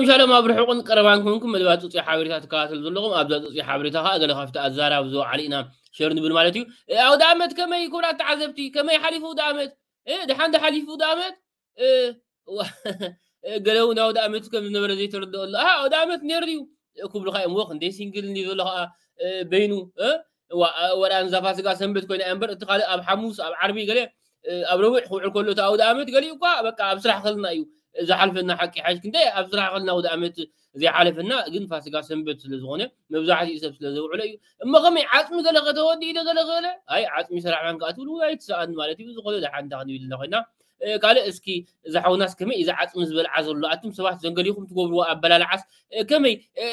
ሻሎም ኣብ ርሑቕን ቀረባን ኮንኩም መደባት ጽጹይ ሓበሬታ ትከታተሉ ዘለኹም ኣብዛ ጽጹይ ሓበሬታ ከኣ ገለ ካብቲ ኣዛራብ ዝወዓሉ ኢና ሸር ንብል ማለት እዩ። ኣውደ ኣመት ከመይ ክቡራት ተዓዘብቲ ከመይ ሓሊፉ ኣውደ ኣመት? እ፣ ድሓን ዶ ሓሊፉ ኣውደ ኣመት? እ፣ ዋ- እ፣ ገለ እውን ኣውደ ኣመት ከም ዝነበረ ዘይተረድኦ ኣሎ። ኣሃ ኣውደ ኣመት ነይሩ ድዩ? እ፣ ክብሉኻ እዮም። ወ ክንደይ ሲንግል እንዲ ዘሎ ኸዓ እ፣ በይኑ እ፣ ዋ- እ፣ ወላ ንዛ ፋሲጋ ሰንበት ኮይና እያ እምበር እቲ ካልእ ኣብ ሓሙስ ኣብ ዓርቢ ገለ እ፣ ኣብ ረቡዕ ክውዕል ከሎ እቲ ኣውደ ኣመት ገሊኡ እኳ በቃ ኣብ ስራሕ ከልና እዩ ዝሓልፈና። ሓቂ ሓሽ ክንደይ ኣብ ስራሕ ከልና ኣውደ ኣመት ዘይሓለፈና ግን ፋሲጋ ሰንበት ስለ ዝኾነ መብዛሕትኡ ሰብ ስለ ዘውዕሎ እዩ። እሞ ከመይ ዓጽሚ ገለ ከተወዲ ኢለ ገለ ገለ ኣይ ዓጽሚ ሰራሕ ማን ከኣ ትብሉ ኣይትሰኣን ማለት እዩ። ዝኾነ ደሓን እንታ ክንብል ኢና ኮይና እ፣ ካልእ እስኪ እዛ ሓውናስ ከመይ እዛ ዓጽሚ ዝበልዓ ዘሎ ኣቱም ሰባት ዘንገሊኹም ትገብርዎ ኣበላልዓስ እ፣ ከመይ እ፣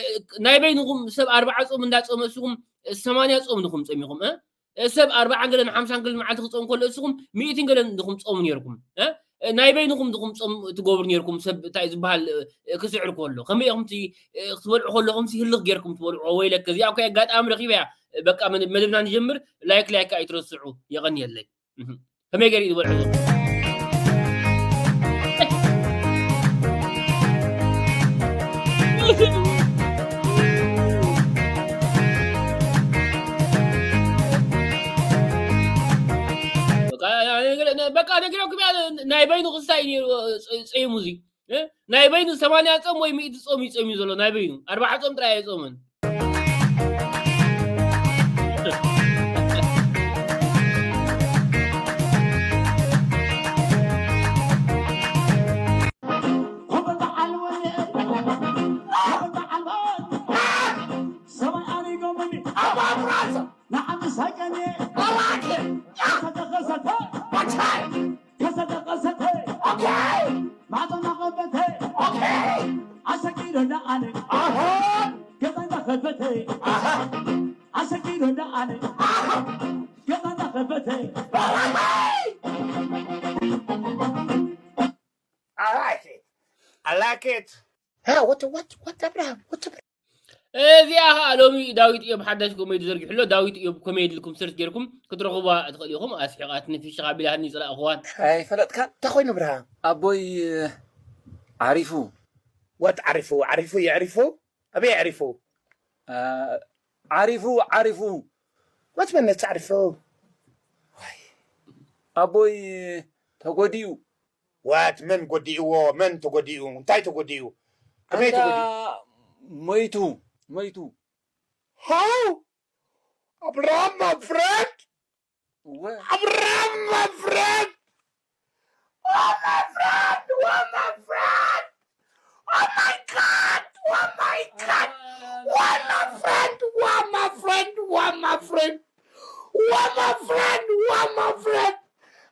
ናይ በይንኹም ሰብ ኣርባዓ ጾም እንዳጾመ እስኹም እ፣ ሰማንያ ጾም ድኹም ጸሚኹም እ? እ፣ ሰብ ኣርባዓን ገለን ሓምሳን ገለን መዓልቲ ክጾም ከሎ እስኹም ሚእትን ገለን ድኹም ጾሙ ነይርኩም እ? እ፣ ናይ በይንኹም ድኹም ጾም ትገብሩ ነይርኩም ሰብ እንታይ ዝበሃል እ፣ ክስዕር ከሎ ከመይ ኢኹም እቲ እ፣ ክትበልዑ ከለኹም ሲ ህልኽ ጌርኩም ትበልዑ ወይለከ እዚኣ እኮ ኣጋጣሚ ረኺበያ በቃ መደብና ንጀምር ላይክ ላይክ ኣይትረስዑ የቐንየለይ እህ። ከመይ ገይሩ እዩ ዝበልዖ ዘሎ? በቃ ነጊረኩም እያ፣ ናይ በይኑ ክስታይ እዩ ነይሩ፣ ጸ- ጸይሙ እዚ እ? ናይ በይኑ ሰማንያ ጾም ወይ ሚእቲ ጾም እዩ ጸይሙ ዘሎ ናይ በይኑ ኣርባዓ ጾም ጥራይ ኣይጾምን። I like it. I like it. Huh? What? What? What? Abraham? What? Abraham? እዚኣ ኸዓ ሎሚ ዳዊት እዮም ሓዳሽ ኮሜዲ ዘርጊሑ ኣሎ። ዳዊት እዮም ኮሜዲ ኢልኩም ሰርች ጌርኩም ክትረኽቡዋ ትኽእሉ ኢኹም። ኣስሒቓትኒ ፍሽኽ ኣቢላትኒ ዝጸላእኽዋን። ኣይፈለጥካን? እንታይ ኮይኑ ብርሃን? ኣቦይ ዓሪፉ። ወት ዓሪፉ ዓሪፉ የዕሪፉ ኣበይ የዕሪፉ? ዓሪፉ ዓሪፉ። ወት መነት ዓሪፉ? ኣቦይ ተጎዲኡ። ዋት መን ጎዲእዎ? መን ተጎዲኡ? እንታይ ተጎዲኡ? ከመይ ተጎዲኡ? ሞይቱ ሞይቱ። How? Abraham, my friend? ወ- Abraham, my friend? Oh, my friend! Oh, my friend! Oh, my God! Oh, my God! Why, my friend? Why, my friend? Why, my friend? Why, my friend? Why, my friend?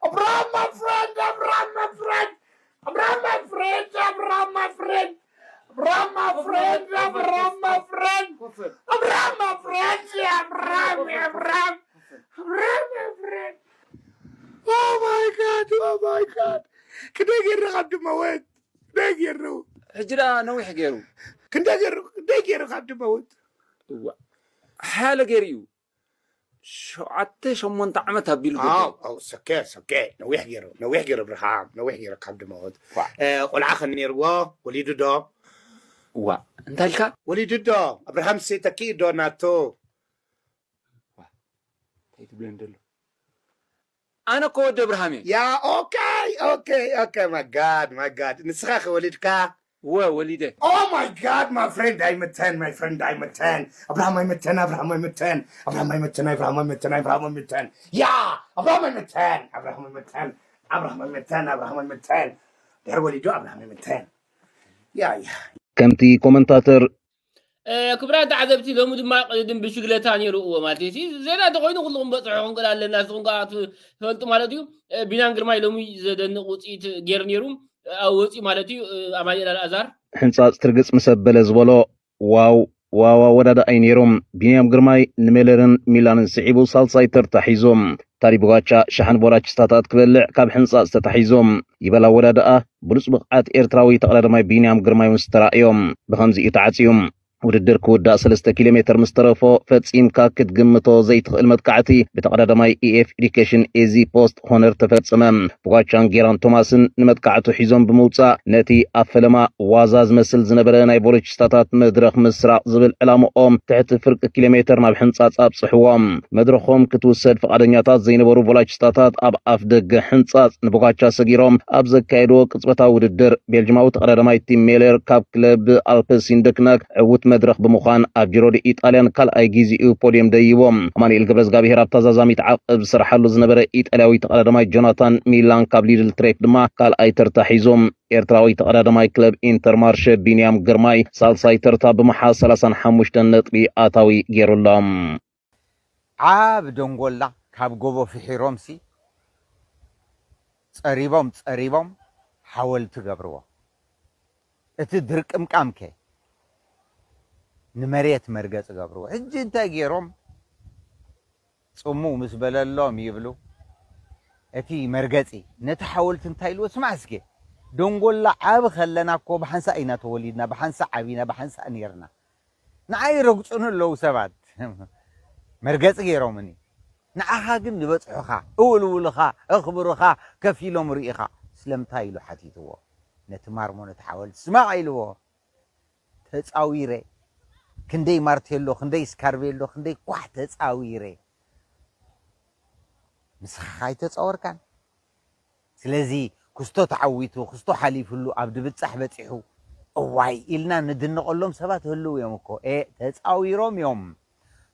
Abraham, my friend! Abraham, my friend! Abraham, my friend! Abraham, my friend! Abraham, my friend! Abraham, my friend! Abraham, my friend! Abraham, Abraham! Abraham, my friend! Oh my God! Oh my God! ክንደይ ገይሩ ካብ ድመወት? ክንደይ ገይሩ? ሕጂ ደኣ ነዊሕ ገይሩ። ክንደይ ገይሩ? ክንደይ ገይሩ ካብ ድመወት? እዋ፣ ሓያለ ገይሩ እዩ። ሸውዓተ ሸሞንተ ዓመት ኣቢሉ ገይሩ። ኣው ኣው ሰከ ሰከ ነዊሕ ገይሩ ነዊሕ ገይሩ ብርሃም ነዊሕ ገይሩ ካብ ድመወት። ዋ። እ፣ ቆልዓ ከ ነይርዎ? ወሊዱ ዶ? ዋ፣ እንታይ ኢልካ? ወሊዱ ዶ? ኣብርሃም ሴ ተኪኡ ዶ ናቱ? እንታይ ትብለኒ ደሎ? ኣነ እኮ ወዲ ኣብርሃም እየ። ያ ኦኬ ኦኬ ኦኬ ማጋድ ማጋድ ንስኻ ከወሊድካ? ወ ወሊደ። Oh my God, my friend ኣይምተን my friend ኣይምተን ኣብርሃም ኣይምተን ኣብርሃም ኣይምተን ኣብርሃም ኣይምተን ኣብርሃም ኣይምተን ኣብርሃም ኣይምተን ያ ኣብርሃም ኣይምተን ኣብርሃም ኣይምተን ኣብርሃም ኣይምተን ኣብርሃም ኣይምተን ድሕሪ ወሊዱ ኣብርሃም ኣይምተን ያ ያ ከምቲ ኮመንታተር ክቡራት ተዓዘብቲ ሎሚ ድማ ቅድድም ብሽግለታ ነይሩ እዎ ማለት እዩ። ዜና እንተኮይኑ ኩልኩም በፅሑ ክንክእል ኣለና ንስኹም ከዓ ትፈልጡ ማለት እዩ። ቢናን ግርማይ ሎሚ ዘደንቕ ውፅኢት ገይሩ ነይሩ ኣብ ወፂኡ ማለት እዩ። ኣማኒኤል ኣልኣዛር ሕንፃፅ ትርግፅ ምስ ኣበለ ዝበሎ ዋው ዋው ኣወዳድኣይ ነይሩ። ቢንያም ግርማይ ንሜለርን ሚላንን ስዒቡ ሳልሳይ ተርታ ሒዙ። ታሪ ብጓቻ ሸሓን ቦራችስታታት ክበልዕ ካብ ሕንፃፅ ተታሒዙ። ይበል ኣወዳድኣ ብሉፅ ብቕዓት ኤርትራዊ ተቐዳዳማይ ቢንያም ግርማይ ምስ ተራእዮ ብኸምዚ እዩ ተዓፅዩ። ውድድር ክውዳእ ሰለስተ ኪሎ ሜትር ምስ ተረፎ፣ ፈጺምካ ክትግምቶ ዘይትኽእል መጥቃዕቲ ብተቐዳዳማይ ኢኤፍ ኤዱኬሽን ኤዚ ፖስት ሆነር ተፈጸመ። ፖጋቻን ጌራን ቶማስን ንመጥቃዕቱ ሒዞም ብምውጻእ፣ ነቲ ኣብ ፈለማ ዋዛ ዝመስል ዝነበረ ናይ ቮሎቺስታታት መድረኽ ምስራቕ ዝብል ዕላምኦም ትሕቲ ፍርቂ ኪሎ ሜትር ናብ ሕንጻጽ ኣብጽሕዎም። መድረኾም ክትውሰድ ፍቓደኛታት ዘይነበሩ ቮሎቺስታታት ኣብ ኣፍ ደገ ሕንጻጽ ንፖጋቻ ሰጊሮም ኣብ ዘካየድዎ ቅጽበታዊ ውድድር፣ ቤልጅማዊ ተቐዳዳማይ ቲም ሜለር ካብ ክለብ ኣልፕሲን ደክነክ ዕዉት መድረኽ ብምዃን ኣብ ጂሮ ዲ ኢጣልያን ካልኣይ ግዜኡ ፖድየም ደይቦ። ኣማኑኤል ገብረዝጋብሄር ኣብ ተዛዛሚት ዓቐብ ዝሰርሓሉ ዝነበረ ኢጣልያዊ ተቐዳዳማይ ጆናታን ሚላን ካብ ሊድል ትሬክ ድማ ካልኣይ ተርታ ሒዞም። ኤርትራዊ ተቐዳዳማይ ክለብ ኢንተርማርሸ ቢንያም ግርማይ ሳልሳይ ተርታ ብምሓዝ ሰላሳን ሓሙሽተን ነጥቢ ኣታዊ ገይሩሎም። ዓብ ደንጎላ ካብ ጎቦ ፍሒሮምሲ ጸሪቦም ጸሪቦም ሓወልቲ ገብርዎ። እቲ ድርቅምቃምከ ንመሬት መርገጽ ገብርዎ። ሕጂ እንታይ ገይሮም? ጽምው ምስ በለሎም ይብሉ። እቲ መርገጺ ነቲ ሓወልቲ እንታይ ኢልዎ? ስማዕ እስከ፣ ደንጎላ ዓቢ ከለና እኮ ብሓንሳእ ኢና ተወሊድና፣ ብሓንሳእ ዓቢና፣ ብሓንሳእ ኔርና። ንዓይ ይረግጹኒ ኣለዉ ሰባት። መርገጺ ገይሮምኒ። ንዓኻ ግን ዝበጽሑኻ፣ እውልውልኻ፣ እኽብርኻ፣ ከፊሎም ርኢኻ። ስለምንታይ ኢሉ ሓቲትዎ? ነቲ ማርሞ ነቲ ሓወልቲ ስማዕ ኢልዎ። ተጻዊረ። ክንደይ ማርቴሎ፣ ክንደይ ስካርቤሎ፣ ክንደይ ኳሕ ተጻዊረ። ንስኻ ኣይተጻወርካን። ስለዚ ክስቶ ተዓዊቱ፣ ክስቶ ሓሊፍሉ፣ ኣብ ድብጻሕ በጺሑ፣ እዋይ ኢልና ንድንቐሎም ሰባት ህልው እዮም እኮ። ኤ፣ ተጻዊሮም እዮም።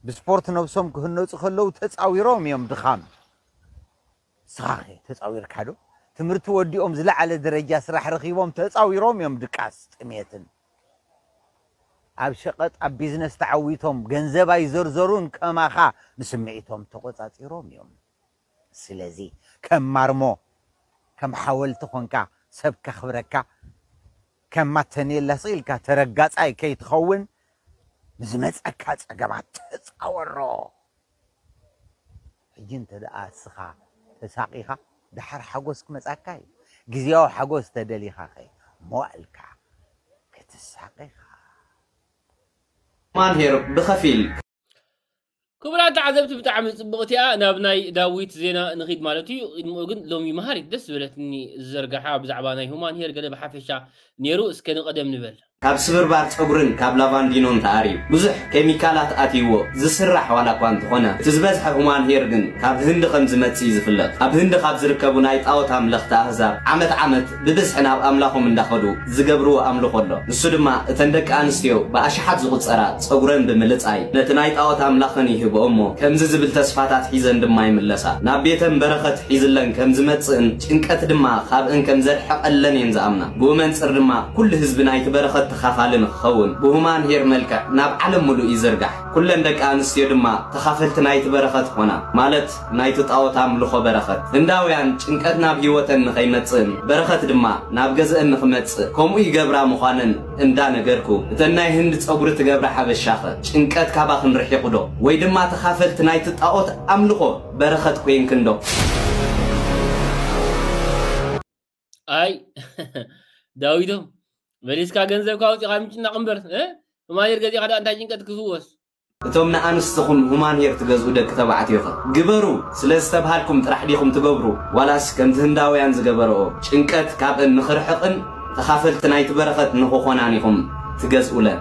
ብስፖርት ነብሶም ክህነጹ ከለዉ ተጻዊሮም እዮም ድኻም። ንስኻኸ ተጻዊርካ ዶ? ትምህርቲ ወዲኦም ዝለዓለ ደረጃ ስራሕ ረኺቦም ተጻዊሮም እዮም ድቃስ፣ ጥሜትን። ኣብ ሸቐጥ፣ ኣብ ቢዝነስ ተዓዊቶም ገንዘብ ኣይዘርዘሩን ከማኻ ንስምዒቶም ተቖጻጺሮም እዮም። ስለዚ ከም ማርሞ፣ ከም ሓወልቲ ኾንካ ሰብ ከኽብረካ፣ ከም ማተኔላ ስቕ ኢልካ ተረጋጻይ ከይትኸውን ንዝመጸካ ጸገማት ተጻወሮ። ሕጂ እንተ ደኣ እስኻ ተሳቒኻ ደሓር ሓጎስ ክመጻካ እዩ። ግዝያዊ ሓጎስ ተደሊኻኸ መዋእልካ ክትሳቐኻ። ማንሄር ብኸፊል ክቡራት ተዓዘብቲ ብጣዕሚ ጽብቕቲ እያ። ናብ ናይ ዳዊት ዜና ንኺድ ማለት እዩ። ቅድሚኡ ግን ሎሚ መሃሪት ደስ ዝበለትኒ ዝዘርጋሓ ብዛዕባ ናይ ሁማን ሄር ገለ ብሓፈሻ ነይሩ። እስከ ንቐደም ንበል። ካብ ስብርባር ጸጉርን ካብ ላቫንዲኖን ተኣርዩ ብዙሕ ኬሚካላት ኣትይዎ ዝስራሕ ዋላ እኳ እንተኾነ፣ እቲ ዝበዝሐ ሁማን ሄር ግን ካብ ህንዲ ከም ዝመጽእ እዩ ዝፍለጥ። ኣብ ህንዲ ካብ ዝርከቡ ናይ ጣዖት ኣምለኽቲ ኣህዛብ ዓመት ዓመት ብብዝሒ ናብ ኣምላኾም እንዳኸዱ ዝገብርዎ ኣምልኾ ኣሎ። ንሱ ድማ እተን ደቂ ኣንስትዮ ብኣሽሓት ዝቑጸራ ጸጉረን ብምልጻይ ነቲ ናይ ጣዖት ኣምላኸን ይህብኦ እሞ ከምዚ ዝብል ተስፋታት ሒዘን ድማ ይምለሳ። ናብ ቤተን በረኸት ሒዝለን ከም ዝመጽእን ጭንቀት ድማ ካብእን ከም ዘርሕቐለን እየን ዝኣምና። ብኡ መንጽር ድማ ኩሉ ህዝቢ ናይቲ በረኸት ተኻፋሊ ንኽኸውን ብሁማን ሄር መልክዕ ናብ ዓለም ምሉእ ይዝርጋሕ። ኩለን ደቂ ኣንስትዮ ድማ ተኻፈልቲ ናይቲ በረኸት ይኾና። ማለት ናይቲ ጣዖት ኣምልኾ በረኸት። ህንዳውያን ጭንቀት ናብ ህይወተን ንኸይመጽእን በረኸት ድማ ናብ ገዝአን ንኽመጽእ ከምኡ ይገብራ ምዃነን እንዳነገርኩ፣ እተን ናይ ህንዲ ጸጉሪ ትገብራ ሓበሻኸ ጭንቀት ካባኽን ርሒቑ ዶ? ወይ ድማ ተኻፈልቲ ናይቲ ጣዖት ኣምልኾ በረኸት ኮይንክን ዶ? ኣይ ዳዊቶም፣ መሊስካ ገንዘብካ ኣውጺኻ ምጭናቕ እምበር፣ እ? ማኔር ገዚእኻ ደኣ እንታይ ጭንቀት ክፍወስ? እቶም ንኣንስትኹም ሁማን ሄር ትገዝኡ ደቂ ተባዕትዮኸ ግበሩ ስለ ዝተብሃልኩም ጥራሕ ዲኹም ትገብሩ? ዋላስ ከምቲ ህንዳውያን ዝገበረኦ ጭንቀት ካብእን ንኽርሕቕን ተኻፈልቲ ናይቲ በረኸት ንኽኾናን ኢኹም ትገዝኡለን?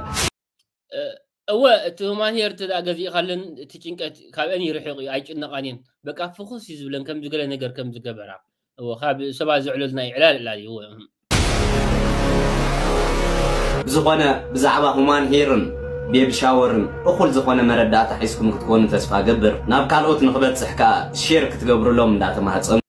እወ፣ እቲ ሁማን ሄር እንተ ደኣ ገዚእኻለን እቲ ጭንቀት ካብአን ይርሕቕ እዩ፣ ኣይጭነቓን እየን። በቃ ፍኹስ እዩ ዝብለን ከምዚ ገለ ነገር ከም ዝገበራ። እወ፣ ካብ ሰባት ዘዕለልና እዩ ዕላል ዕላል እዩ። እወ። ብዝኾነ ብዛዕባ ሁማን ሄርን ቤቢ ሻወርን እኹል ዝኾነ መረዳእታ ሒዝኩም ክትኮኑ ተስፋ እገብር። ናብ ካልኦት ንኽበጽሕ ከኣ ሼር ክትገብሩሎም እንዳተማህጸኑ።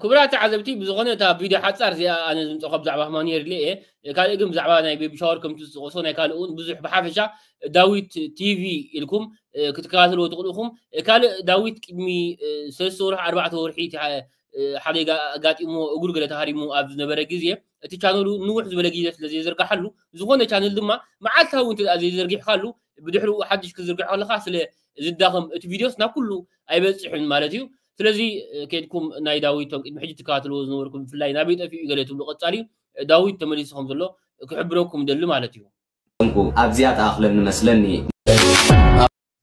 ክቡራት ተዓዘብቲ ብዝኾነ እታ ቪድዮ ሓጻር እዚኣ ኣነ ዝምጸእኳ ብዛዕባ ሁማን ሄር ኢለ እየ። ካልእ ግን ብዛዕባ ናይ ቤቢ ሻወር ከምቲ ዝጠቐሶ ናይ ካልእ እውን ብዙሕ ብሓፈሻ ዳዊት ቲቪ ኢልኩም ክትከታተልዎ ትኽእሉ ኢኹም። ካልእ ዳዊት ቅድሚ ሰለስተ ወርሒ ኣርባዕተ ወርሒ እቲ ሓደጋ ኣጋጢሞ እግሩ ገለ ተሃሪሙ ኣብ ዝነበረ ግዜ እቲ ቻነሉ ንውሕ ዝበለ ግዜ ስለ ዘይዘርግሓሉ ዝኾነ ቻነል ድማ መዓልታዊ እንተ ዘይዘርጊሕካሉ ብድሕሪኡ ሓድሽ ክዝርግሖ ከለኻ ስለ ዝዳኸም እቲ ቪድዮስ ናብ ኩሉ ኣይበጽሕን ማለት እዩ። ስለዚ ከድኩም ናይ ዳዊት ቶም ቅድሚ ሕጂ ትከታተልዎ ዝነበርኩም ብፍላይ ናበይ ጠፊኡ ገለ ትብሉ ቀጻሊ ዳዊት ተመሊሱ ከም ዘሎ ክሕብረኩም ደሊ ማለት እዩ። ኣብዚኣ ተኣኽለኒ መስለኒ።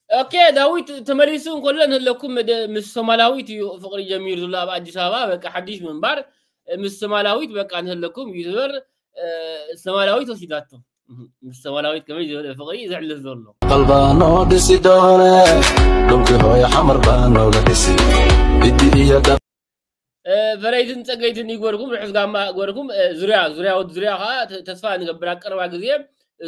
ኦኬ፣ ዳዊት ተመሊሱ እንከሎ ንህለኩም መደ-፣ ምስ ሶማላዊት እዩ ፍቕሪ ጀሚሩ ዘሎ ኣብ ኣዲስ ኣበባ። በቃ ሓድሽ ምንባር ምስ ሶማላዊት በቃ ንህለኩም ዩቱበር እ፣ ሶማላዊት ወሲዳቶ። ምስ ሶማላዊት ከመይ ዝበለ ፍቕሪ እዩ ዘሕልፍ ዘሎ። Qalbano disidone, dunki hoy hamar bano la disi. Idi iya da እ፣ ፈረይትን ጸገይትን ይግበርኩም፣ ርሑስ ጋማ ግበርኩም። እ፣ ዙርያ ዙርያ ወዲ ዙርያ ከዓ ተ-፣ ተስፋ ንገብር ኣብ ቀረባ ግዜ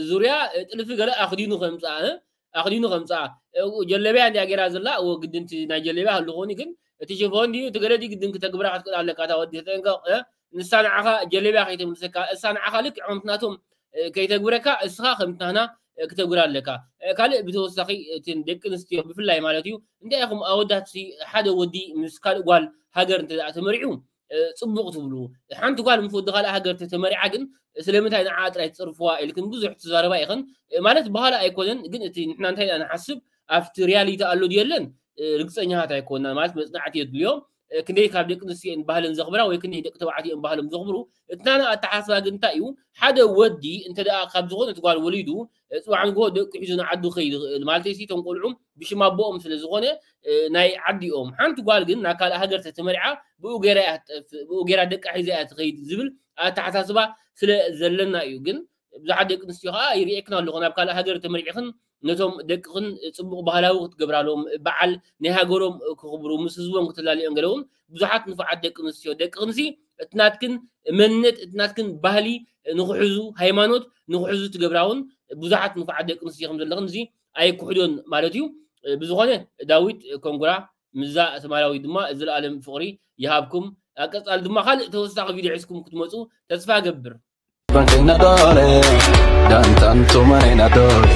ዙርያ እ፣ ጥልፊ ገለ ኣኽዲኑ ከምጽኣ እ፣ ኣኽዲኑ ከምጽኣ እ፣ ጀለብያ እንዲያ ጌራ ዘላ እዎ ግድንቲ ናይ ጀለብያ ህሉ ኾኒ ግን እቲ ሽፎን ድዩ እቲ ገለ ድዩ ግድን ክተግብራ ክትክእል ኣለካ እታ ወዲ ተጠንቀቕ እ፣ ንሳ ንዓኻ ጀለብያ ከይተምልሰካ እሳ ንዓኻ ልክዕ ከምቲ ናቶም እ፣ ከይተግብረካ እስኻ ከምቲ ናህና እ፣ ክተግብራ ኣለካ። እ፣ ካልእ ብተወሳኺ እቲ ደቂ ኣንስትዮ ብፍላይ ማለት እዩ እንታይ ኢኹም ኣወዳት ሲ ሓደ ወዲ ምስ ካልእ ጓል ሃገር እንተ ደኣ ተመሪዑ እ፣ ጽቡቕ ትብሉ። ሓንቲ ጓል ምስ ወዲ ካልእ ሃገር ተተመሪዓ ግን ስለምንታይ ንዓ ጥራይ ትጸርፍዋ ኢልክን ብዙሕ ትዛረባ ኢኽን። እ፣ ማለት ባህላ ኣይኮነን ግን እቲ ንሕና እንታይ ኢና ንሓስብ ኣብቲ ሪያሊቲ ኣሎ ድዩ የለን እ፣ ርግጸኛታት ኣይኮና ማለት መጽናዕቲ የድልዮ። እ፣ ክንደይ ካብ ደቂ ኣንስትዮ እየን ባህለን ዘኽብራ ወይ ክንደይ ደቂ ተባዕትዮ እዮም ባህሎም ዘኽብሩ። እቲ ናና ኣተሓሳስባ ግን እንታይ እዩ ሓደ ወዲ እንተ ደኣ ካብ ዝኾነ እቲ ጓል ወሊዱ እ፣ ጽባሕ ንግሆ ደቂ ሒዙ ንዓዱ ከይድ ይኽእል ማለት ሲ እቶም ቆልዑ ብሽም ኣቦኦም ስለ ዝኾነ እ፣ ናይ ዓዲኦም ሓንቲ ጓል ግን ናብ ካልእ ሃገር ተተመሪዓ ብኡ ገይራ እያ ትጠፍእ ብኡ ገይራ ደቃ ሒዛ እያ ትኸይድ ዝብል ኣተሓሳስባ ስለ ዘለና እዩ ግን ብዙሓት ደቂ ኣንስትዮ ከዓ ይርእየክን ኣለኹ ናብ ካልእ ሃገር ተመሪዕኽን ነቶም ደቅኽን ፅቡቕ ባህላዊ ክትገብራሎም በዓል ናይ ሃገሮም ክኽብሩ ምስ ህዝቦም ክትላልዮም ገለውን ብዙሓት ንፉዓት ደቂ ኣንስትዮ ደቅኽንሲ እቲ ናትክን መንነት እቲ ናትክን ባህሊ ንክሕዙ ሃይማኖት ንክሕዙ ትገብራውን ብዙሓት ንፉዓት ደቂ ኣንስትዮ ከም ዘለኽን እዚ ኣይክሕዶን ማለት እዩ ብዝኾነ ዳዊት ኮንጉራ ምዛ ሰማያዊ ድማ ዘለኣለም ፍቕሪ ይሃብኩም ኣብ ቀፃል ድማ ካልእ ተወሳኺ ቪድዮ ሒዝኩም ክትመፁ ተስፋ ገብር Bankinadore, dantan tumanenadore.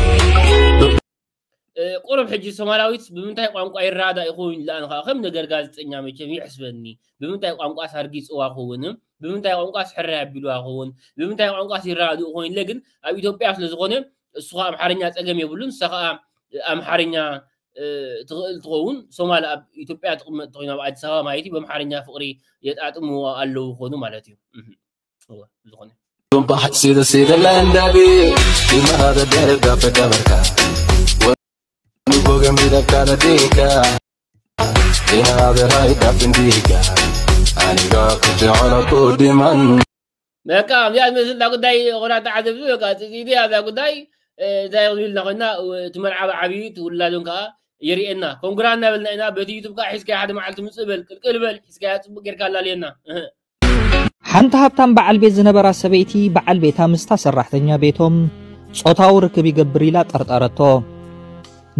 ቁሩብ ሕጂ ሶማላዊት ብምንታይ ቋንቋ ይረዳዳ ይኸውን ኢላ ንኻ ከም ነገር ጋዜጠኛ መቸም ይሕስበኒ ብምንታይ ቋንቋ ሳርጊፅዋ ኸውን ብምንታይ ቋንቋ ስሕራይ ኣቢልዋ ኸውን ብምንታይ ቋንቋ ይረዳድኡ ኸውን ኢለ ግን ኣብ ኢትዮጵያ ስለ ዝኾነ እሱ ከዓ ኣምሓርኛ ፀገም የብሉን ንሳ ከዓ ኣምሓርኛ ትኽእል ትኸውን ሶማል ኣብ ኢትዮጵያ ትቕመጥ ተኮይኑ ኣብ ኣዲስ ኣበባ ማለት እዩ በምሓርኛ ፍቕሪ የጣጥምዎ ኣለዉ ኾኑ ማለት እዩ ዝኾነ Tumpa sida sida landabi, imahada dere dafe dabarka. Wani boga midabkada dika, ina aderai dafin dika. Aniga kujahala kudiman. በቃ ኣብዚኣ ዝመስል እዛ ጉዳይ ቆራጣ ዓዘብዚ በቃ ፅፅኢቲ ኣብዛ ጉዳይ እንታይ ይኽእል ኢልና ኮይና እቲ መርዓዊ ዓብዩ እቲ ውላዶን ከዓ የርእየና ኮንግራ እናበልና ኢና በቲ ዩቱብ ከዓ ሒዝካያ ሓደ መዓልቲ ምፅእ በል ቅልቅል በል ሒዝካያ ፅቡቅ ጌርካ ኣላልየና ሓንቲ ሃብታም በዓል ቤት ዝነበራ ሰበይቲ በዓል ቤታ ምስታ ሰራሕተኛ ቤቶም ጾታዊ ርክብ ይገብር ኢላ ጠርጠረቶ።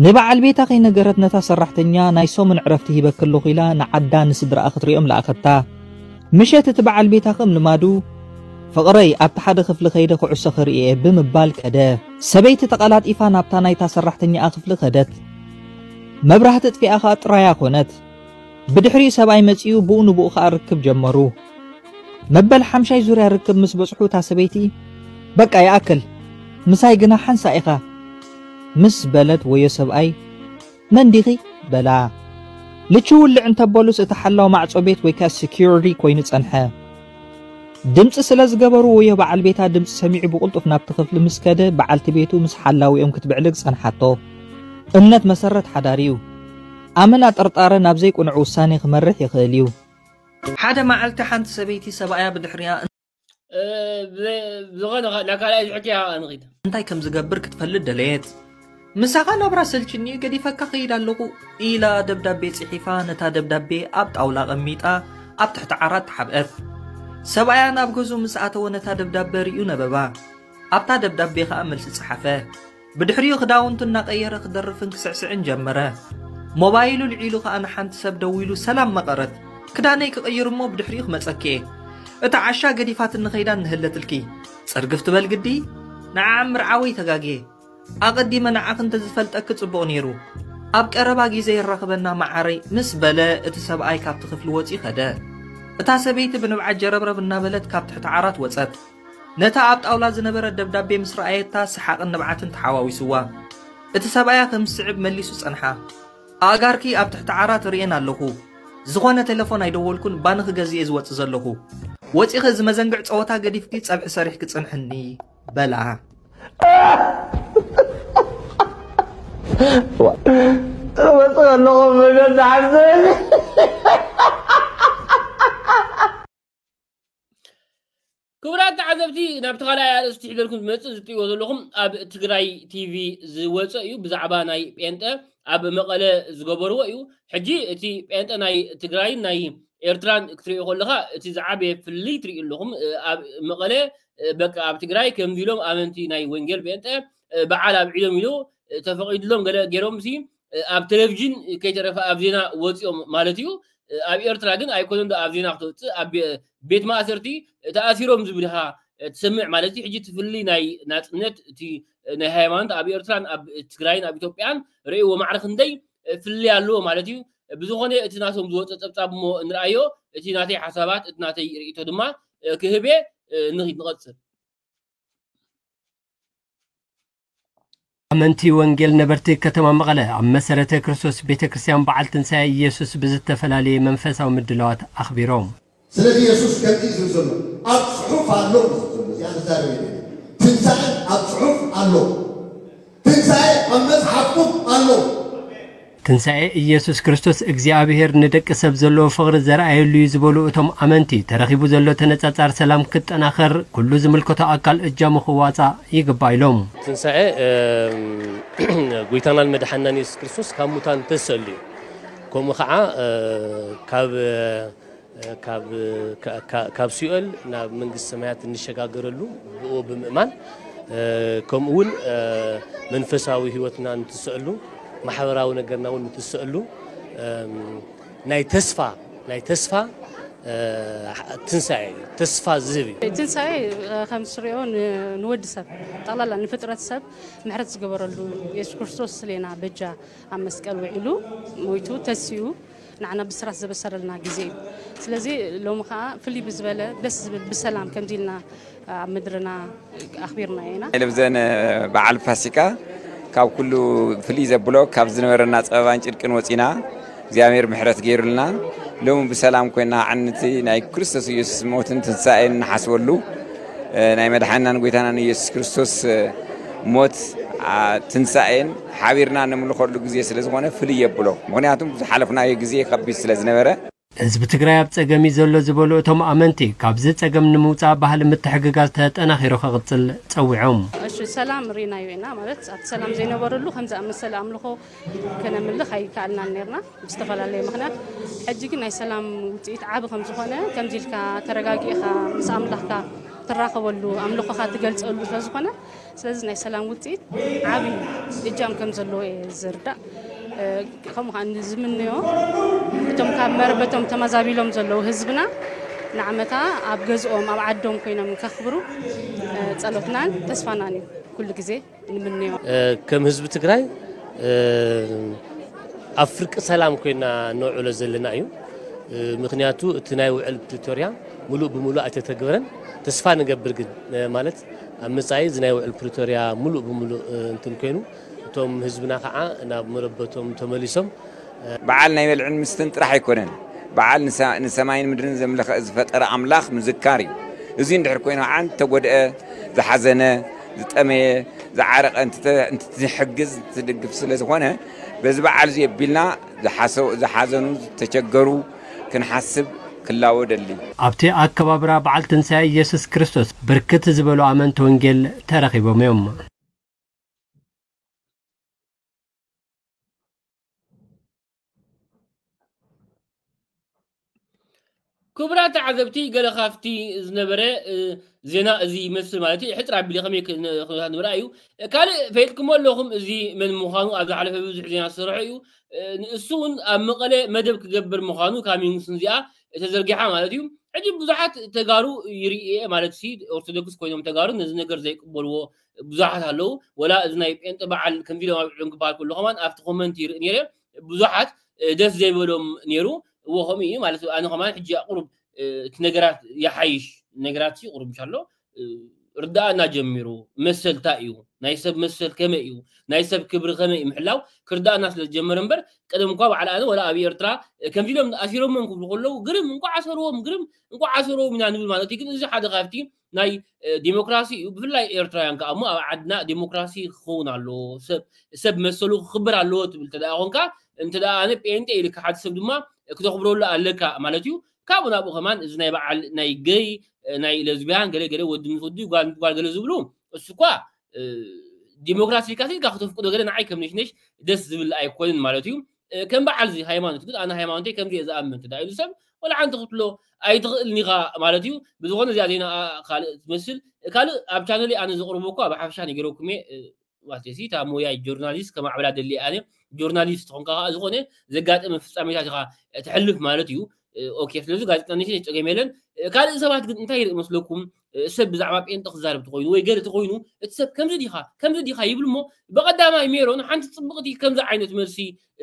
ንበዓል ቤታ ከይነገረት ነታ ሰራሕተኛ ናይ ሰሙን ዕረፍቲ ሂበኪ ኣለኹ ኢላ ንዓዳ ንስድራኣ ክትሪኦም ለኣኸታ። ምሸት እቲ በዓል ቤታ ከም ልማዱ ፍቕረይ ኣብቲ ሓደ ክፍሊ ከይደ ኩዕሶ ክርኢ እየ ብምባል ከደ። ሰበይቲ ተቐላጢፋ ናብታ ናይታ ሰራሕተኛኣ ክፍሊ ከደት። መብራህቲ ጥፊኣ ከኣ ጥራያ ኮነት። ብድሕሪኡ ሰብኣይ መጺኡ ብኡ ንብኡ ከኣ ርክብ ጀመሩ። መበል ሓምሻይ ዙርያ ርክብ ምስ በጽሑ እታ ሰበይቲ በቃ ይኣክል ምሳይ ግና ሓንሳ ኢኻ ምስ በለት ወዮ ሰብኣይ መን ዲኺ በላ። ልቺ ውልዕ እንተበሉስ እቲ ሓላው ማዕጾ ቤት ወይ ከኣ ሲኪዩሪቲ ኮይኑ ጸንሐ። ድምጺ ስለ ዝገበሩ ወዮ በዓል ቤታ ድምጺ ሰሚዑ ብቕልጡፍ ናብቲ ክፍሊ ምስ ከደ በዓልቲ ቤቱ ምስ ሓላዊኦም ክትብዕልግ ጸንሓቶ። እምነት መሰረት ሓዳር እዩ። ኣመና ጥርጣረ ናብ ዘይቅኑዕ ውሳኔ ክመርሕ ይኽእል እዩ። ሓደ መዓልቲ ሓንቲ ሰበይቲ ሰብኣያ ብድሕሪያ ዝኾነ ናብ ካልኣይ ዝሕክያ ንኺድ እንታይ ከም ዝገብር ክትፈልጥ ደለየት። ምሳኻ ናብራ ሰልችኒ ገዲፈካ ኸይድ ኣለኹ ኢላ ደብዳቤ ጽሒፋ ነታ ደብዳቤ ኣብ ጣውላ ቐሚጣ ኣብ ትሕቲ ዓራት ተሓብአት። ሰብኣያ ናብ ገዝኡ ምስ ኣተወ ነታ ደብዳበ ርእዩ ነበባ። ኣብታ ደብዳቤ ኸኣ መልሲ ጸሓፈ። ብድሕሪኡ ክዳውንቱ እናቐየረ ክደርፍን ክስዕስዕን ጀመረ። ሞባይሉ ልዒሉ ኸኣ ንሓንቲ ሰብ ደዊሉ ሰላም መቐረት። ክዳነይ ክቕይር እሞ ብድሕሪኡ ክመጸኪ እየ። እታ ዓሻ ገዲፋትኒ ኸይዳ እንህለትልኪ። ጽርግፍ ትበል ግዲ? ንዓ ምርዓወይ ተጋግየ። ኣቐዲመ ንዓኺ እንተዝፈልጠኪ ጽቡቕ ነይሩ። ኣብ ቀረባ ግዜ የራኽበና መዓረይ ምስ በለ እቲ ሰብኣይ ካብቲ ክፍሊ ወጺኡ ኸደ። እታ ሰበይቲ ብንብዓት ጀረብረብ እናበለት ካብ ትሕቲ ዓራት ወጸት። ነታ ኣብ ጣውላ ዝነበረት ደብዳቤ ምስ ረኣየታ ሰሓቕን ንብዓትን ተሓዋዊስዋ። እቲ ሰብኣያ ከም ዝስዕብ መሊሱ ጸንሓ። ኣእጋርኪ ኣብ ትሕቲ ዓራት ርእየን ኣለኹ። ዝኾነ ቴለፎን ኣይደወልኩን ባኒ ክገዝእ እየ ዝወጽእ ዘለኹ። ወጺኺ እዚ መዘንግዕ ጸወታ ገዲፍኪ ጸብሒ ሰሪሕኪ ጽንሕኒ በላ። እመጽእ ኣለኹ መገዲ ሓዘን። ክቡራት ተዓዘብቲ፣ ናብቲ ካልኣይ ኣርእስቲ ሒዘልኩም ዝመጽእ ዝርእይዎ ዘለኹም ኣብ ትግራይ ቲቪ ዝወፀ እዩ። ብዛዕባ ናይ ጴንጠ ኣብ መቐለ ዝገበርዎ እዩ። ሕጂ እቲ ጴንጠ ናይ ትግራይን ናይ ኤርትራን ክትርእዮ ከለኻ እቲ ዝዓበየ ፍልልይ ትርእዩ ኣለኹም። ኣብ መቐለ በቃ ኣብ ትግራይ ከምዚ ኢሎም ኣመንቲ ናይ ወንጌል ጴንጠ በዓል ኣብዒሎም ኢሉ ተፈቒድሎም ገለ ገይሮም ሲ ኣብ ቴሌቪዥን ከይተረፈ ኣብ ዜና ወፂኦም ማለት እዩ። ኣብ ኤርትራ ግን ኣይኮነን ዶ ኣብ ዜና ክትወፅእ፣ ኣብ ቤት ማእሰርቲ ተኣሲሮም ዝብል ኢኻ ትሰምዕ ማለት እዩ። ሕጂ እቲ ፍልልይ ናይ ናፅነት እቲ ናይ ሃይማኖት ኣብ ኤርትራን ኣብ ትግራይን ኣብ ኢትዮጵያን ርእይዎ ማዕረ ክንደይ ፍልልይ ኣለዎ ማለት እዩ። ብዝኾነ እቲ ናቶም ዝወፀ ፀብፃብ እሞ እንርኣዮ፣ እቲ ናተይ ሓሳባት እቲ ናተይ ርእይቶ ድማ ክህብ እየ። ንኺድ ንቐፅል። ኣመንቲ ወንጌል ነበርቲ ከተማ መቐለ ኣብ መሰረተ ክርስቶስ ቤተ ክርስቲያን በዓል ትንሳኤ ኢየሱስ ብዝተፈላለየ መንፈሳዊ ምድላዋት ኣኽቢሮም። ስለዚ የሱስ ከምዚ እዩ ዝብል ዘሎ፣ ኣብ ጽሑፍ ኣሎ እዩ ዝብል ዘሎ። እዚኣ ክዛረብ እየ። ትንሳኤ ኣብ ጽሑፍ ኣሎ። ትንሳኤ ኣብ መጽሓፍኩም ኣሎ። ትንሳኤ ኢየሱስ ክርስቶስ እግዚኣብሔር ንደቂ ሰብ ዘለዎ ፍቕሪ ዘርኣየሉ እዩ ዝበሉ እቶም ኣመንቲ፣ ተረኺቡ ዘሎ ተነጻጻር ሰላም ክጠናኸር ኩሉ ዝምልከቶ ኣካል እጃሙ ክዋጻእ ይግባእ ኢሎም። ትንሳኤ፣ እም፣ ጎይታናን መድሓናን የሱስ ክርስቶስ ካብ ሙታን ተሰሉ እዩ። ከምኡ ኸዓ፣ እ፣ ካብ፣ እ፣ ካብ፣ ካ-፣ ካ-፣ ካብ ሲኦል ናብ መንግስቲ ሰማያት እንሸጋገረሉ ብኡ ብምእማን፣ እ፣ ከምኡ እውን፣ እ፣ መንፈሳዊ ህይወትና እንትስእሉ፣ ማሕበራዊ ነገርና እውን እንትስእሉ፣ እም፣ ናይ ተስፋ፣ ናይ ተስፋ፣ እ፣ ትንሳኤ እዩ። ተስፋ ዝህብ እዩ። ትንሳኤ፣ እ፣ ከም ትሪኦ ን-፣ ንወዲ ሰብ ጠቕላላ ንፍጥረት ሰብ ምሕረት ዝገበረሉ፣ የሱስ ክርስቶስ ስሌና በጃ ኣብ መስቀል ውዒሉ ሞይቱ ተሲኡ ንዓና ብስራት ዘበሰረልና ግዜ እዩ። ስለዚ ሎሚ ከዓ ፍልይ ብዝበለ ደስ ዝብል ብሰላም ከምዚ ኢልና ኣብ ምድርና ኣኽቢርናዮ ኢና። ለብዘን በዓል ፋሲካ ካብ ኩሉ ፍልይ ዘብሎ ካብ ዝነበረና ጸበባን ጭንቅን ወጺና እግዚኣብሔር ምሕረት ገይሩልና ሎሚ ብሰላም ኮይና ዓንንቲ ናይ ክርስቶስ ኢየሱስ ሞትን ትንሳኤን ንሓስበሉ፣ እ፣ ናይ መድሓንናን ጎይታናን ኢየሱስ ክርስቶስ፣ እ፣ ሞት፣ አ፣ ትንሳኤን ሓቢርና ንምልኸሉ ግዜ ስለ ዝኾነ ፍልይ የብሎ። ምኽንያቱም ዝሓለፍናዮ ግዜ ከቢድ ስለ ዝነበረ። ህዝቢ ትግራይ ኣብ ጸገም እዩ ዘሎ ዝበሉ እቶም ኣመንቲ፣ ካብዚ ጸገም ንምውጻእ ባህሊ ምትሕግጋዝ ተጠናኺሩ ክቕጽል ጸዊዖም። እሺ፣ ሰላም ርኢናዮ ኢና። ማለት ኣብቲ ሰላም ዘይነበረሉ ከምዚ ኣመሰለ ኣምልኾ ከነምልኽ ኣይከኣልናን ነርና ብዝተፈላለየ ምኽንያት። ሕጂ ግን ናይ ሰላም ውጽኢት ዓቢ ከም ዝኾነ፣ ከምዚ ኢልካ ተረጋጊእኻ ምስ ኣምላኽካ ትራኸበሉ፣ ኣምልኾኻ ትገልጸሉ ስለ ዝኾነ፣ ስለዚ ናይ ሰላም ውጽኢት ዓቢ እጃም ከም ዘለዎ እየ ዝርዳእ። እ፣ ከምኡ ከኣ ዝምንዮ እቶም ካብ መረበቶም ተመዛቢሎም ዘለዉ ህዝብና ንዓመታ ኣብ ገዝኦም ኣብ ዓዶም ኮይኖም ከኽብሩ፣ እ፣ ጸሎትናን ተስፋናን እዩ ኩሉ ግዜ። ንምንዮ። እ፣ ከም ህዝቢ ትግራይ፣ እ፣ ኣብ ፍርቂ ሰላም ኮይና ነውዕሎ ዘለና እዩ። እ፣ ምኽንያቱ እቲ ናይ ውዕል ፕሪቶርያ ሙሉእ ብሙሉእ ኣይተተግበረን። ተስፋ ንገብር ግን፣ እ፣ ማለት ኣብ መጻኢ እዚ ናይ ውዕል ፕሪቶርያ ሙሉእ ብሙሉእ፣ እ፣ እንትን ኮይኑ እቶም ህዝብና ከዓ ናብ መረበቶም ተመሊሶም። በዓል ናይ በልዕን ምስተን ጥራሕ ኣይኮነን። በዓል ንሰ-፣ ንሰማይን ምድርን ዘምለኸ ዝፈጠረ ኣምላኽ ምዝካር እዩ። እዚ እንድሕር ኮይኑ ከዓ እንተጎድአ፣ ዝሓዘነ፣ ዝጠመየ፣ ዝዓረቐ እንትተ-፣ እንትትሕግዝ፣ እንትትድግፍ ስለ ዝኾነ፣ በዚ በዓል እዚ ኣቢልና ዝሓሰ-፣ ዝሓዘኑ፣ ዝተቸገሩ ክንሓስብ ክላወ ደሊ። ኣብቲ ኣከባብራ በዓል ትንሳኤ ኢየሱስ ክርስቶስ ብርክት ዝበሉ ኣመንቲ ወንጌል ተረኺቦም እዮም። ክቡራት ተዓዘብቲ፣ ገለ ካብቲ ዝነበረ፣ እ፣ ዜና እዚ ይመስል ማለት እዩ። ሕጽር ኣቢለ ከመይ ክን-፣ ኩነታት ንምርኣይ እዩ። ካልእ ፈሊጥኩሞ ኣለኹም፣ እዚ መን ምዃኑ ኣብ ዝሓለፈ ብዙሕ ዜና ዝሰርሖ እዩ። እ፣ ንእሱ እውን ኣብ መቐለ መደብ ክገብር ምዃኑ ካብ ሚንግስን እዚኣ ተዘርጊሓ ማለት እዩ። ሕጂ ብዙሓት ተጋሩ ይርኢ እየ ማለት ሲ፣ ኦርቶዶክስ ኮይኖም ተጋሩ ነዚ ነገር ዘይቅበልዎ ብዙሓት ኣለዉ። ወላ እዚ ናይ ጴንጠ በዓል ከምዚ ኢሎም ኣብዕሎም ክበሃል ከሎ ከማን ኣብቲ ኮመንት ይርኢ ነይረ። ብዙሓት፣ እ፣ ደስ ዘይበሎም ነይሩ። እዎ ከምኡ እዩ ማለት እዩ። ኣነ ከማን ሕጂ ቁሩብ፣ እ፣ እቲ ነገራት ይሓይሽ፣ ነገራት ሲ ቁሩብ ምሻሎ፣ እ፣ ርዳእና ጀሚሩ። መሰል እንታይ እዩ፣ ናይ ሰብ መሰል ከመይ እዩ፣ ናይ ሰብ ክብሪ ከመይ እዩ ምሕላው ክርዳእና ስለ ዝጀመረ እምበር፣ ቀደም እኳ በዓል ኣነ ወላ ኣብ ኤርትራ ከምዚ ኢሎም ኣሲሮሞም ክብሉ ከለዉ ግርም እንኳዕ ኣሰርዎም፣ ግርም እንኳዕ ኣሰርዎም ኢና ንብል ማለት እዩ። ግን እዚ ሓደ ካብቲ ናይ ዲሞክራሲ እዩ። ብፍላይ ኤርትራውያን ከኣ እሞ ኣብ ዓድና ዲሞክራሲ ክኸውን ኣለዎ። ሰብ ሰብ መሰሉ ክኽብር ኣለዎ ትብል እንተ ደኣ ኾንካ፣ እንተ ደኣ ኣነ ጴንጤ ኢልካ ሓደ ሰብ ድማ ክተኽብረሉ ኣለካ ማለት እዩ። ካብኡ ናብኡ ከማን እዚ ናይ በዓል ናይ ገይ፣ ናይ ለዝቢያን ገለ ገለ፣ ወዲ ምስ ወዲ ጓል ምስ ጓል ገለ ዝብሉ፣ እሱ እኳ ዲሞክራሲ ኢልካ ኢልካ ክተፍቅዶ ገለ ንዓይ ከም ነሽነሽ ደስ ዝብል ኣይኮንን ማለት እዩ። ከም በዓል እዚ ሃይማኖት ግን ኣነ ሃይማኖተይ ከምዚ እየ ዝኣምን እንተ ደኣ ኢሉ ሰብ ወላ ሓንቲ ክትብሎ ኣይትኽእልን ኢኻ ማለት እዩ። ብዝኾነ እዚኣ ዜና ካልእ ትመስል። ካልእ ኣብ ቻነለይ ኣነ ዘቕርቦ እኳ ብሓፈሻ ነጊረኩም እየ። ማለት እዚ እታ ሞያ ጆርናሊስት ከማዕብላ ደሊ ኣነ። ጆርናሊስት ትኾንካ ከዓ ዝኾነ ዘጋጠመ ፍጻሜታት ኢኻ ትሕልፍ ማለት እዩ። ኦኬ፣ ስለዚ ጋዜጣ ነሽን ጸገም የለን። ካልእ ሰባት ግን እንታይ ይርኢ መስለኩም? ሰብ ብዛዕባ ጴንጠ ክዛረብ ተኾይኑ ወይ ገለ ተኾይኑ፣ እቲ ሰብ ከምዚ ዲኻ ከምዚ ዲኻ ይብል እሞ፣ ብቐዳማይ ሜሮን ሓንቲ ጽብቕቲ ከምዚ ዓይነት መልሲ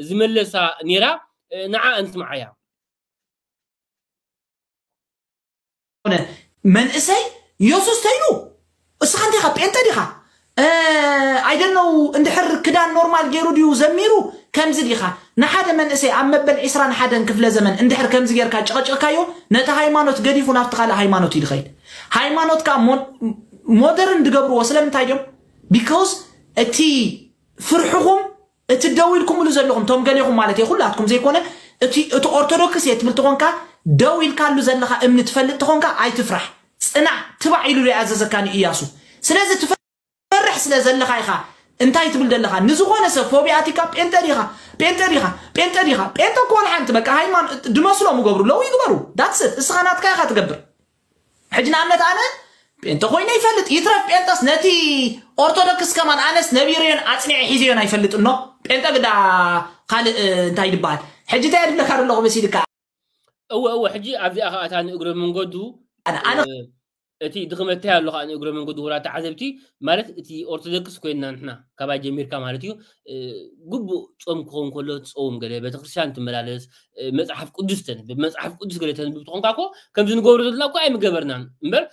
ዝመለሳ ኔራ። ንዓ እንትምዓያ። ሆነ መንእሰይ፣ ኢየሱስ ተይሉ እስኻ እንታይ ኢኻ? ጴንጠ ዲኻ? ኣይደነው እንድሕር ክዳን ኖርማል ገይሩ ድዩ ዘሚሩ? ከምዚ ዲኻ? ንሓደ መንእሰይ ኣብ መበል ዒስራን ሓደን ክፍለ ዘመን እንድሕር ከምዚ ጌርካ ጨቐጭቕካዮ፣ ነቲ ሃይማኖት ገዲፉ ናብቲ ካልእ ሃይማኖት እዩ ዝኸይድ። ሃይማኖትካ ሞደርን ዝገብርዎ ስለምንታይ ድዮም? ቢካውስ እቲ ፍርሕኹም እቲ ደው ኢልኩምሉ ዘለኹም ቶም ገሌኹም ማለት እየ ኩላትኩም ዘይኮነ እቲ እቲ ኦርቶዶክስ እየ ትብል ተኾንካ ደው ኢልካሉ ዘለኻ እምኒ ትፈልጥ ተኾንካ ኣይትፍራሕ። ጽናዕ ትባዕ ኢሉ ይኣዘዘካ ንእያሱ። ስለዚ ትፈርሕ ስለ ዘለኻ ኢኻ እንታይ ትብል ዘለኻ ንዝኾነ ሰብ ፎቢያቲካ ጴንጠ ዲኻ ጴንጠ ዲኻ ጴንጠ ዲኻ ጴንጠ እኮ ወላ ሓንቲ በቃ ሃይማኖት ድመስሎም ይገብሩ ለው ይግበሩ that's it እስኻ ናትካ ኢኻ ትገብር። ሕጂ ንኣብነት ኣነ ጴንጠ ኮይነ ይፈልጥ ይትረፍ ጴንጠስ ነቲ ኦርቶዶክስ ከማን ኣነስ ነቢረዮን ኣፅኒዐ ሒዘዮን ኣይፈልጥ እኖ ጴንጠ ግዳ ካልእ እንታይ ይበሃል ሕጂ እንታይ የድብለካ ዘለኹ መሲልካ እወ እወ ሕጂ ኣብዚኣ ከዓ እታ ንእግረ መንገዱ ኣነ እቲ ድኽመት እንታይ ኣሎ ከዓ ንእግረ መንገዱ ክቡራት ተዓዘብቲ ማለት እቲ ኦርቶዶክስ ኮይንና ንሕና ካባይ ጀሚርካ ማለት እዩ ግቡእ ጾም ክኸውን ከሎ ትጸውም ገለ ቤተክርስትያን ትመላለስ መጽሓፍ ቅዱስ ተንብብ መጽሓፍ ቅዱስ ገለ ተንብብ ትኾንካ እኮ ከምዚ ንገብሮ ዘለና እኮ ኣይምገበርናን እምበር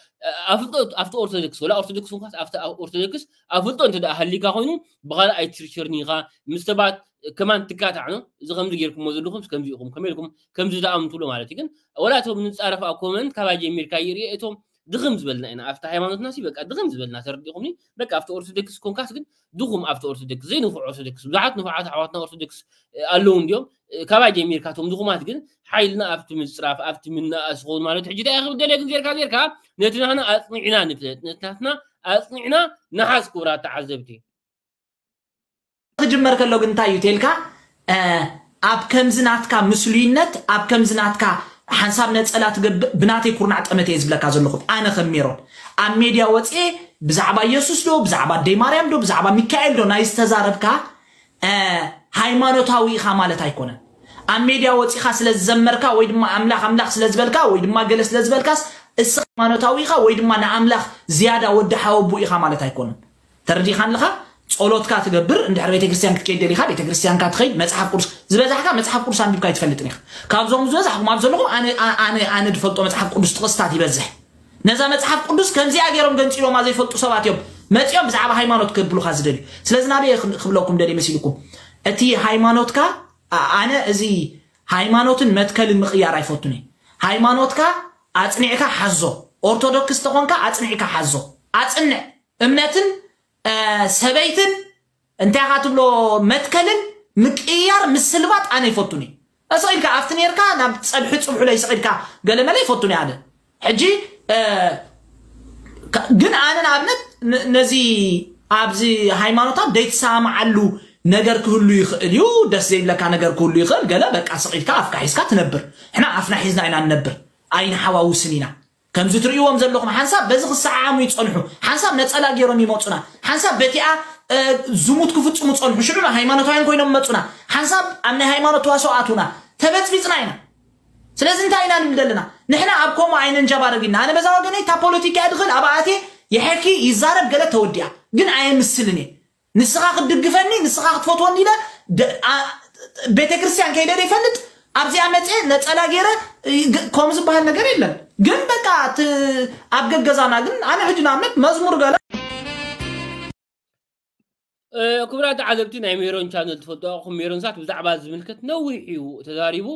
ኣብቲ ኦርቶዶክስ ወላ ኦርቶዶክስ እንኳስ ኣብቲ ኦርቶዶክስ ኣፍልጦ እንተ ደኣ ሃሊካ ኮይኑ ብኻልእ ኣይትሽርሽርኒ ኢኻ ምስ ሰባት ከማን ትካታዕ ነው እዚ ከምዚ ጌርኩሞ ዘለኹም ከምዚ ኢኹም ከመይ ኢልኩም ከምዚ ደኣ ምትብሎ ማለት እዩ ግን ወላ እቶም ንጻረፍ ኣብ ኮመንት ካባይ ጀሚርካ ይርኢ እቶም ድኽም ዝበልና ኢና ኣብቲ ሃይማኖትና ሲ በቃ ድኽም ዝበልና ተረዲኹምኒ በቃ ኣብቲ ኦርቶዶክስ ኮንካስ ግን ድኹም ኣብቲ ኦርቶዶክስ ዘይንፉዕ ኦርቶዶክስ ብዙሓት ንፉዓት ኣሕዋትና ኦርቶዶክስ ኣለዉ እንዲዮም ካባይ ጀሚርካ እቶም ድኹማት ግን ሓይልና ኣብቲ ምፅራፍ ኣብቲ ምናኣስ ኸውን ማለት ሕጂ እንታይ ክብል ደልየ ግን ጌርካ ጌርካ ነቲ ናህና ኣፅኒዕና ንፍለጥ ነቲ ናትና ኣፅኒዕና ንሓዝ ክቡራት ተዓዘብቲ ክጅመር ከሎ ግን እንታይ እዩ ተልካ ኣብ ከምዚ ናትካ ምስሉይነት ኣብ ከምዚ ናትካ ሓንሳብ ነፀላ ትገብእ ብናተይ ኩርናዕ ጠመተ እየ ዝብለካ ዘለኹ ኣነ ከም ሜሮን ኣብ ሜድያ ወፅኤ ብዛዕባ ኢየሱስ ዶ ብዛዕባ ኣደይ ማርያም ዶ ብዛዕባ ሚካኤል ዶ ናይ ዝተዛረብካ ሃይማኖታዊ ኢኻ ማለት ኣይኮነን ኣብ ሜድያ ወፂኻ ስለ ዝዘመርካ ወይ ድማ ኣምላኽ ኣምላኽ ስለ ዝበልካ ወይ ድማ ገለ ስለ ዝበልካስ እስ ሃይማኖታዊ ኢኻ ወይ ድማ ንኣምላኽ ዝያዳ ወዲ ሓወቡ ኢኻ ማለት ኣይኮነን ተረዲኻ ኣለኻ ጸሎትካ ትገብር እንድሕር ቤተክርስትያን ክትከይድ ደሊኻ ቤተክርስትያንካ ትኸይድ መጽሓፍ ቅዱስ ዝበዛሕካ መጽሓፍ ቅዱስ ኣንቢብካ ኣይትፈልጥን ኢኻ ካብዞም ዝበዛሕኩም ኣብ ዘለኹም ኣነ ኣነ ኣነ ድፈልጦ መጽሓፍ ቅዱስ ጥቕስታት ይበዝሕ ነዛ መጽሓፍ ቅዱስ ከምዚኣ ገይሮም ገንጺሎማ ዘይፈልጡ ሰባት እዮም መጺኦም ብዛዕባ ሃይማኖት ከብሉኻ ዝደልዩ ስለዚ ናበየ ክብለኩም ደልየ መሲልኩም እቲ ሃይማኖትካ ኣነ እዚ ሃይማኖትን መትከልን ምቕያር ኣይፈቱን ሃይማኖትካ ኣጽኒዕካ ሓዞ ኦርቶዶክስ ተኾንካ ኣጽኒዕካ ሓዞ ኣጽንዕ እምነትን ሰበይትን እንታይ ኢኻ ትብሎ መትከልን ምቅያር ምስልባጥ ኣነ ይፈቱን እዩ እስቕ ኢልካ ኣብቲ ነርካ ናብ ፀብሒ ፅብሑ ለይስቕ ኢልካ ገለመለ ይፈቱን ኣነ ሕጂ ግን ኣነ ንኣብነት ነዚ ኣብዚ ሃይማኖታት ዘይተሰማማዓሉ ነገር ክህሉ ይኽእል እዩ ደስ ዘይብለካ ነገር ክህሉ ይኽእል ገለ በቃ ስቕ ኢልካ ኣፍካ ሒዝካ ትነብር ሕና ኣፍና ሒዝና ኢና ንነብር ኣይንሓዋውስን ኢና ከምዚ ትርእይዎም ዘለኹም ሓንሳብ በዚ ክሰዓዓሙ ይጸንሑ፣ ሓንሳብ ነጸላ ገይሮም ይመጹና፣ ሓንሳብ በቲኣ ዝሙት ክፍጽሙ ጸንሑ፣ ሽዑ ሃይማኖታውያን ኮይኖም መጹና፣ ሓንሳብ ኣብ ናይ ሃይማኖት ተዋስኦ ኣትዉና፣ ተበጽቢጽና ኢና። ስለዚ እንታይ ኢና ንብል ዘለና? ንሕና ኣብ ከምኡ ኣይነንጃባርግ ኢና። ኣነ በዛ ወገነይ እታ ፖለቲካ እየ ድኽእል፣ ኣብኣ ኣትየ ይሐኪ ይዛረብ ገለ ተወዲኣ፣ ግን ኣየምስልን እየ። ንስኻ ክትድግፈኒ ንስኻ ክትፈትወኒ ኢለ ቤተክርስትያን ከይደ ዘይፈልጥ ኣብዚኣ መፅየ ነፀላ ገይረ ከምኡ ዝበሃል ነገር የለን ግን በቃ እቲ ኣብ ገገዛና ግን ኣነ ሕጂ ንኣብነት መዝሙር ገለ ክቡራት ተዓዘብቲ ናይ ሜሮን ቻነል ትፈልጡ ኣኹም ሜሮን ሳት ብዛዕባ ዝምልከት ነዊሕ እዩ ተዛሪቡ።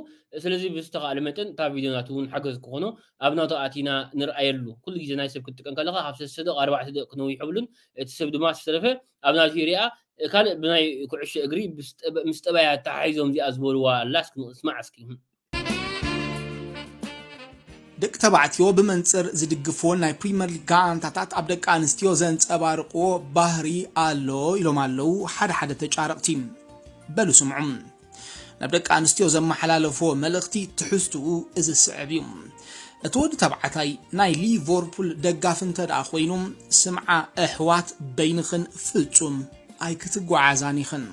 ስለዚ ብዝተኻእለ መጠን እታ ቪድዮ ናቱ እውን ሓገዝ ክኾኖ ኣብ ናቱ ኣቲና ንርኣየሉ። ኩሉ ግዜ ናይ ሰብ ክትጥቀም ከለኻ ካብ ሰለስተ ደቂ ኣርባዕተ ደቂ ክነዊሕ የብሉን። እቲ ሰብ ድማ ዝተረፈ ኣብ ናቱ ይሪኣ። ካልእ ብናይ ኩዕሾ እግሪ ምስ ጠባያ ተሓሒዞም እዚኣ ዝበልዋ ኣላ እስኪ ንስማዕ እስኪ። ደቂ ተባዕትዮ ብመንፅር ዝድግፍዎን ናይ ፕሪመር ሊግ ጋንታታት ኣብ ደቂ ኣንስትዮ ዘንፀባርቕዎ ባህሪ ኣሎ ኢሎም ኣለዉ ሓደ ሓደ ተጫረቕቲ። በሉ ስምዑ። ናብ ደቂ ኣንስትዮ ዘመሓላለፍዎ መልእኽቲ ትሕዝትኡ እዚ ዝስዕብ እዩ። እቲ ወዲ ተባዕታይ ናይ ሊቨርፑል ደጋፊ እንተ ደኣ ኮይኑ ስምዓ ኣሕዋት በይንኽን ፍጹም ኣይክትጓዓዛን ኢኽን።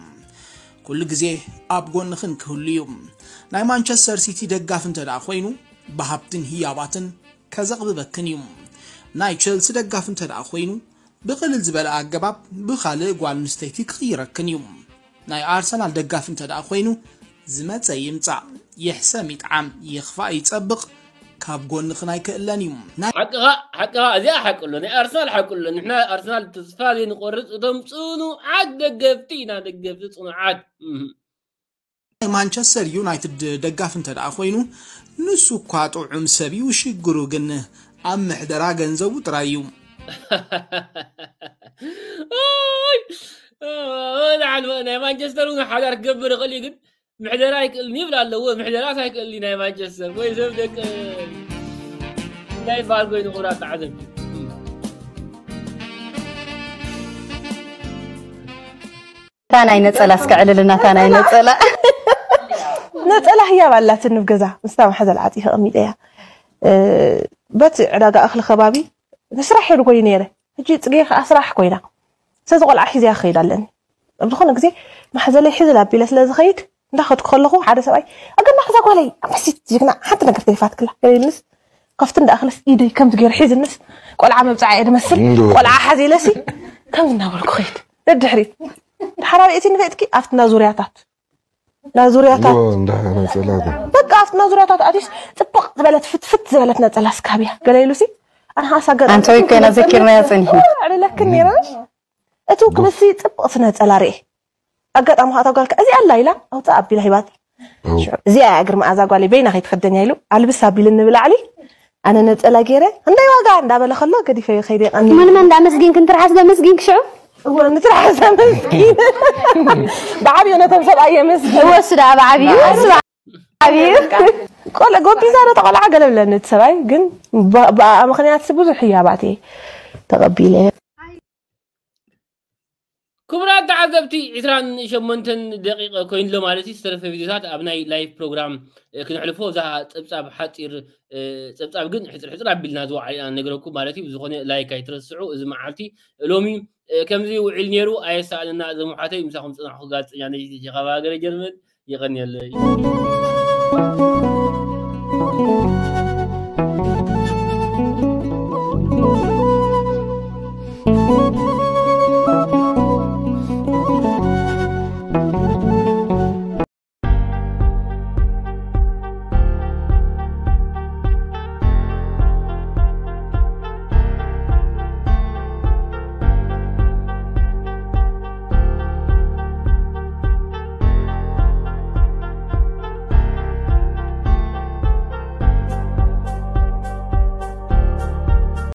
ኩሉ ግዜ ኣብ ጎንኽን ክህሉ እዩ። ናይ ማንቸስተር ሲቲ ደጋፊ እንተ ደኣ ኮይኑ ብሃብትን ህያባትን ከዘቕብበክን እዩ። ናይ ቸልሲ ደጋፊ እንተ ደኣ ኮይኑ ብቕልል ዝበለ ኣገባብ ብኻልእ ጓል ኣንስተይቲ ክቕይረክን እዩ። ናይ ኣርሰናል ደጋፊ እንተ ደኣ ኮይኑ ዝመጸ ይምጻእ፣ ይሕሰም ይጥዓም፣ ይኽፋእ ይጸብቕ ካብ ጎንኽን ኣይክእለን እዩ። ናይ ሓቅኻ ሓቅኻ እዚኣ ሓቂ ኣሎ ናይ ኣርሰናል ሓቂ ኣሎ ንሕና ኣርሰናል ተስፋ ዘይንቆርጽ እቶም ጽኑዓት ደገፍቲ ኢና ደገፍቲ ጽኑዓት እህ። ናይ ማንቸስተር ዩናይትድ ደጋፊ እንተ ደኣ ኮይኑ ንሱ እኳ ጥዑም ሰብ እዩ፣ ሽግሩ ግን ኣብ ምሕደራ ገንዘቡ ጥራይ እዩ። ኣይ፣ ኣይ፣ ናይ ማንቸስተር እውን ሓዳር ክገብር ይኽእል እዩ ግን ምሕደራ ኣይክእልን ይብል ኣለዎ ምሕደራስ ኣይክእልን ናይ ማንቸስተር ወይ ሰብ ደቂ እንታይ ይበሃል ኮይኑ ክብራት ተዓዘብቲ እታ ናይ ነፀላ እስከ ዕልልና እታ ናይ ነፀላ ነፀላ ህያብ ኣላትኒ ኣብ ገዛ ምስታ ማሕዘል ዓፂ ከቐሚጠ እያ በቲ ዕዳጋ እኽሊ ከባቢ ንስራሕ ሄዱ ኮይኑ ነይረ ሕጂ ፅጌ ከዓ ስራሕ ኮይና ስለዚ ቆልዓ ሒዘያ ክኸይድ ኣለኒ ኣብ ዝኾነ ግዜ ማሕዘለይ ሕዝል ኣቢለ ስለ ዝኸይድ እንዳኸድኩ ከለኹ ሓደ ሰብኣይ ኣገና ከዛ ጓለይ ኣምሕሲት ጅግና ሓንቲ ነገር ተሪፋትክላ ገለ ኢልንስ ከፍቲ እንዳእኽልስ ኢደይ ከምዚ ገይሩ ሒዝንስ ቆልዓ መብፅዓ እየ ድመስል ቆልዓ ሓዚለሲ ከምዚ እናበልኩ ኸይድ ደድሕሪት ሓራሪእቲ ንፈጥኪ ኣብቲ ናዙርያታት ናዙርያታት በቃ ኣብቲ ናዙርያታት ኣትዩስ ፅብቕ ዝበለት ፍትፍት ዝበለት ነፀላ ስካብያ ገለ ኢሉሲ ኣነ ኸዓ ሳገር ኣንተ ወይ ኮይና ዘኪርናያ ፀኒሑ ዕልለክን ነይረሽ እቲ ውክልሲ ፅብቕ ስነፀላ ርኤ ኣጋጣሚ ኸዓ እታ ጓልካ እዚ ኣላ ኢላ ኣውፃእ ኣቢላ ሂባታ እዚኣ እያ እግሪ መኣዛ ጓለይ በይና ከይትኸደን እያ ኢሉ ኣልብስ ኣቢልኒ ብላዕሊ ኣነ ነፀላ ገይረ ክንደይ ዋጋ እንዳበለ ከሎ ገዲፈዮ ከይደ ቀኒ መን መን እንዳመስጊንክ እንትርሓስ ደመስጊንክ ሽዑ ንትርሓስ ኣመስጊን ብዓብዩ ነቶም ሰብኣይ የመስጊን ወስዳ ብዓብዩ ወስዳ ብዓብዩ ቆልዕ ጎቢዛ ዶ ተቆልዓ ገለ ብለኒ እቲ ሰብኣይ ግን ብኣ ምክንያት ብዙሕ ህያባት እየ ተቐቢለ ክቡራት ተዓዘብቲ ዕስራን ሸሞንተን ደቂቐ ኮይኑሎ ማለት እዩ ዝተረፈ ቪድዮታት ኣብ ናይ ላይቭ ፕሮግራም ክነሕልፎ እዛ ፀብፃብ ሓፂር ፀብፃብ ግን ሕፅር ሕፅር ኣቢልና ዝወዓል ኢና ነግረኩም ማለት እዩ ብዝኾነ ላይክ ኣይትረስዑ እዚ መዓልቲ ሎሚ ከምዚ ውዒል ነይሩ ኣየሳእነና እዞም ሓተይ ምሳኹም ፅናሕኩ ጋዜጠኛ ነይቲ ሸኻባ ሃገረ ጀርመን የቐንየለይ